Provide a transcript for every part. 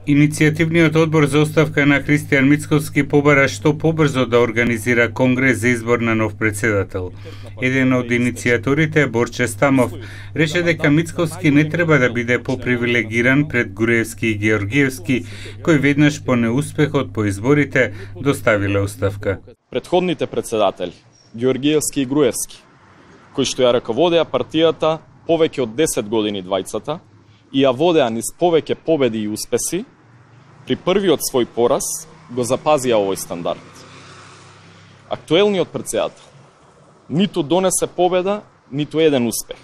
Иницијативниот одбор за оставка на Христијан Мицковски побара што побрзо да организира конгрес за избор на нов председател. Еден од иницијаторите, Борче Стамов, рече дека Мицковски не треба да биде попривилегиран пред Груевски и Георгиевски, кои веднаш по неуспехот по изборите доставиле оставка. Претходните председатели, Георгиевски и Груевски, кои што ја раководеа партијата повеќе од 10 години двајцата, и ја водеа низ повеќе победи и успеси, при првиот свој пораз го запазија овој стандард. Актуелниот председател ниту донесе победа, ниту еден успех.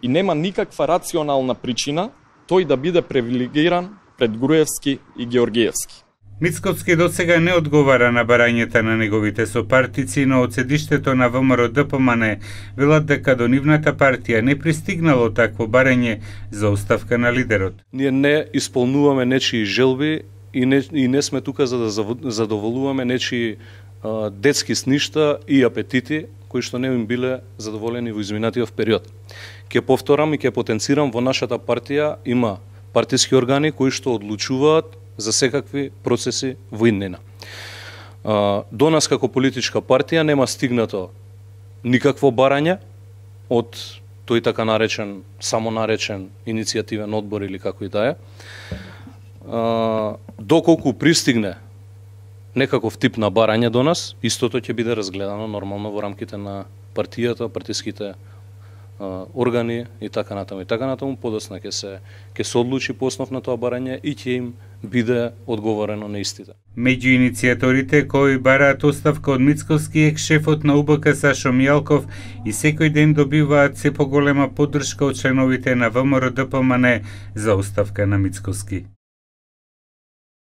И нема никаква рационална причина тој да биде привилегиран пред Груевски и Георгиевски. Мицковски досега не одговара на барањата на неговите сопартици, но од седиштето на ВМРО ДПМН велат дека до нивната партија не пристигнало такво барање за оставка на лидерот. Ние не исполнуваме нечии желби и не сме тука за да задоволуваме нечии детски сништа и апетити кои што не им биле задоволени во изминатиот период. Ќе повторам и ќе потенцирам, во нашата партија има партиски органи кои што одлучуваат за секакви процеси во иднина. До нас како политичка партија нема стигнато никакво барање од тој така наречен, самонаречен иницијативен одбор или како и да е. Доколку пристигне некаков тип на барање до нас, истото ќе биде разгледано нормално во рамките на партијата, партиските органи и така натаму, подосна ќе се одлучи по основ на тоа барање и ќе им биде одговорено на истите. Меѓу иницијаторите кои бараат оставка од Мицковски е шефот на УБК Сашо Мијалков и секој ден добиваат се поголема поддршка од членовите на ВМРО ДПМН за оставка на Мицковски.